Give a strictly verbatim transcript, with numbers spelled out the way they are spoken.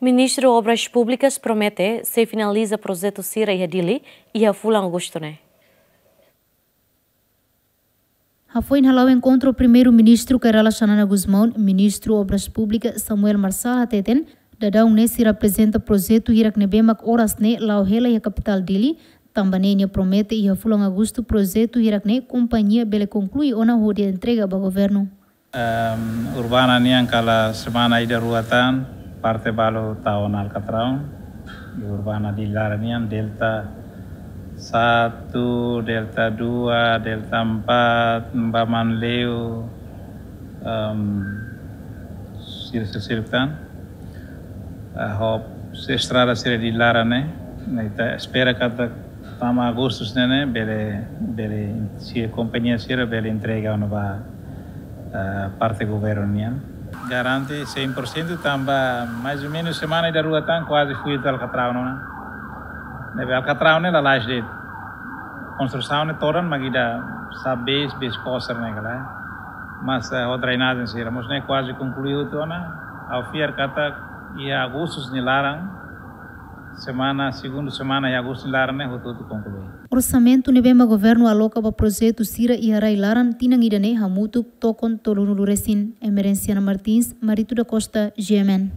Ministru Obras Públikas promete sei finaliza projetu sira iha Dili iha fulan Agostu ne'e. Hafoin hala'o enkontru Primeiru-Ministru Kay Rala Xanana Gusmão, Ministru Obras Públikas Samuel Marçal hateten, daudaun ne'e sira aprezenta projetu hirak ne'ebé mak oras ne'e la'o hela iha kapitál Dili, tanba ne'e nia promete iha fulan Agostu projetu hirak ne'e kompañia bele konklui ona hodi entrega ba governu. Ehm, urbana nian kala semana ida rua tan, parte balu tau ona alkatraun. Di urbana Dili laran nian, Delta satu, Delta dua, Delta empat, Baman Leu, ehm, sira sira tan. Eh, ho estrada sira Dili laran ne'e, ne'e ita espera katak tama Agostu ne'e, ne'e bele, bele, se kompañia sira bele entrega ona ba, eh, parte governu nian. Garante cem por cento tanba mais ou menos semana ida rua tan kuaze fui ita alkatraun ona. Ne'ebé alkatraun ne'e lalais de'it. Konstrusaun ne'e todan mak ida sa bes, bes kosar ne'e kala. Mas, eh, ho drenajen sira mós ne'e kuaze konklui hotu ona. Ha'u fiar katak iha Agostu nia laran, semana, segundu semana iha Agostu nia laran ne'e hotu-hotu konklui. Orsamentu ne'ebé mak governu aloka ba projetu sira iha rai laran tinan ida ne'e hamutuk tokon tolunulu resin. Emerenciana Martins, Marito da Costa, G M N.